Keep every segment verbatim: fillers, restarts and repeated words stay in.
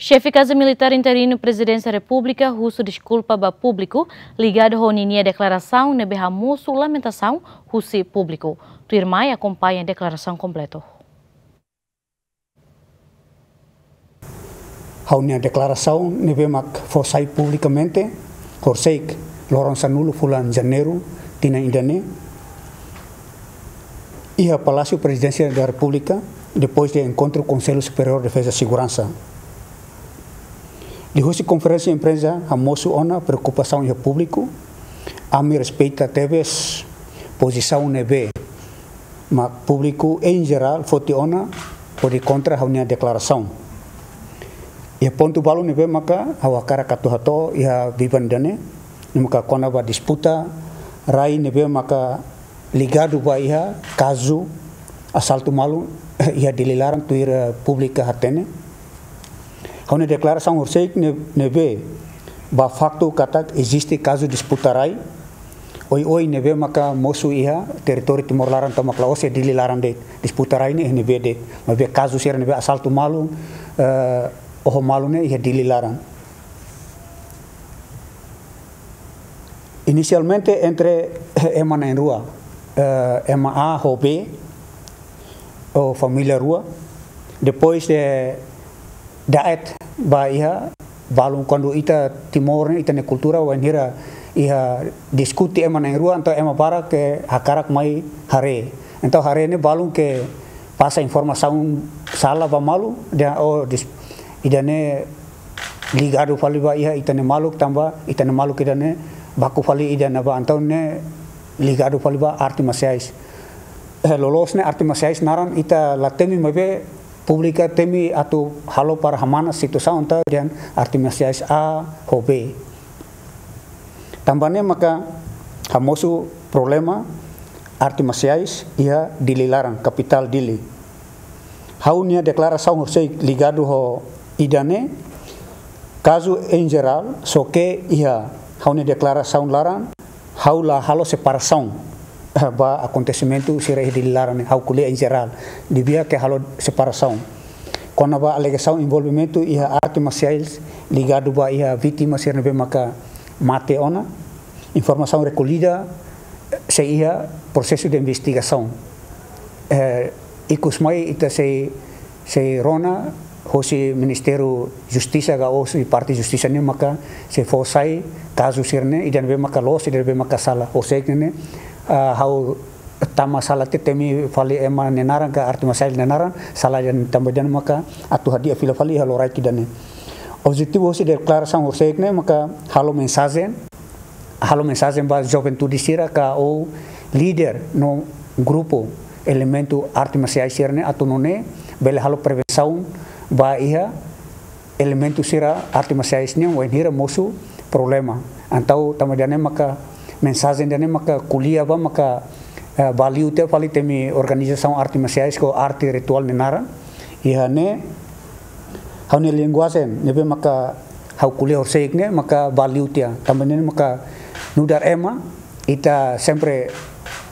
Xefe Kazu Militár interinu Prezidénsia Repúblika husu deskulpa ba públiku ligadu ho ninia deklarasaun ne'ebé hamosu lamentasaun husi públiku. Tuirmai akompaña deklarasaun kompletu. Ha'u-nia deklarasaun ne'ebé mak fó sai publikamente, horisehik loron sanulu fulan Janeiru tinan ida-ne'e, iha Palásiu Prezidénsia da Repúblika, depois de enkontru Konsellu Superiór Defeza Seguransa. Liuhusi konferénsia imprensa hamosu ona preokupasaun iha públiku, ami respeita tebes pozisaun ne'ebé mak públiku em geral foti ona hodi kontra ha'u-nia deklarasaun. Iha pontu balu ne'ebé maka ha'u hakarak atu hato'o iha biban ida-ne'e, ne'e maka kona-ba disputa rai ne'ebé maka ligadu ba iha kazu asaltu malu iha Dili laran tuir, eh, públiku hatene. Ha'u-nia deklarasaun horisehik ne'e, ne'ebé ba faktu katak eziste kazu disputa rai oioin ne'ebé maka mosu iha territóriu Timor laran, entaun mak la'ós iha Dili laran de'it. Disputa rai ne'e iha ne'ebé de'it. Maibé kazu sira ne'ebé asaltu malu, eh, oho malu ne'e iha Dili laran. Inisialmente entre ema na'in-rua, eh, ema A ho B, ou família rua. Depois de da'et ba iha balun, kuandu ita Timor ne'e, ita-nia kultura wainhira iha diskute ema na'in-rua, entaun ema barak hakarak mai haree. Entaun haree ne'e balun pasa informasaun sala ba malu, dehan, oh, dis-, ida-ne'e ligadu fali ba iha ita-nia maluk, tanba ita-nia maluk ida-ne'e baku fali ida ne'ebá, entaun ne'e ligadu fali ba arte marsiais. Eh, loloos ne'e arte marsiais naran ita la temi, maibé públiku temi atu halo para hamanas situasaun, entaun dehan arte marsiais A ho B. Tanba ne'e maka hamosu problema arte marsiais iha Dili laran, kapitál Dili. Ha'u-nia deklarasaun horisehik ligadu ho ida-ne'e, kazu em geral, só ke iha ha'u-nia deklarasaun laran, ha'u la halo separasaun ba akontesimentu sira iha Dili laran ne'e, ha'u ko'alia em geral, dehan ke halo separasaun. Kona-ba alegasaun envolvimentu iha arte marsiais ligadu ba iha vítima sira ne'ebé maka mate ona, informasaun rekollida, eh, sei iha prosesu de investigasaun. Eh, ikus mai ita sei, sei rona hosi Ministériu Justisa ka hosi parte Justisa nian maka sei fó sai kazu sira-ne'e, ida ne'ebé maka loos, ida ne'ebé maka sala. Horisehik ne'e, ah, ha'u tama sala, temi fali ema nia naran ka arte marsiais nia naran, sala dehan tanba dehan maka atu hadi'a fila fali iha loraik ida-ne'e. Objetivu hosi deklarasaun horisehik ne'e maka halo mensajen, halo mensajen ba juventude sira ka ou líder no grupu elementu arte marsiais sira-ne'e atu nune'e bele halo prevensaun ba iha elementu sira arte marsiais nian wainhira mosu problema. Entaun tanba ida-ne'e maka mensajen ida-ne'e maka ko'alia ba maka, eh, ba liu tiha fali temi organizasaun arte marsiais ka arte rituál nia naran. Iha ne'e ha'u-nia linguajen ne'ebé maka ha'u ko'alia horisehik ne'e maka ba liu tiha. Tanba ne'e maka nu'udar ema ita sempre,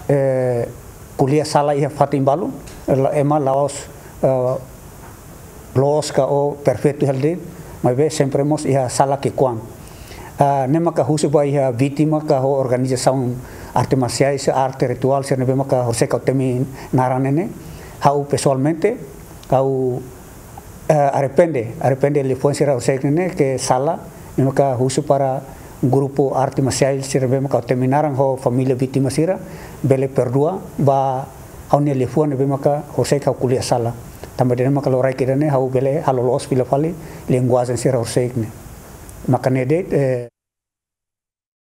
eh, ko'alia sala iha fatin balu, la-, ema la'ós, eh, loos ka ou perfeitu hela de'it, maibé sempre mós iha sala ki'ikoan. Ah, ne'e maka husu ba iha vítima ka ho organizasaun arte marsiais, arte rituál sira ne'ebé maka horisehik ha'u temi naran ne'e, ha'u pesoalmente, ha'u, eh, arrepende, arrepende liafuan sira horisehik ne'e ke sala, ne'e maka husu para grupu arte marsiais sira ne'ebé maka ha'u temi naran ho família vítima sira, bele perdua ba ha'u-nia liafuan ne'ebé maka horisehik ha'u ko'alia sala. Tanba ida-ne'e maka loraik ida-ne'e ha'u bele halo loos fila fali linguajen sira horisehik ne'e. Maka ne'e de'it, eh,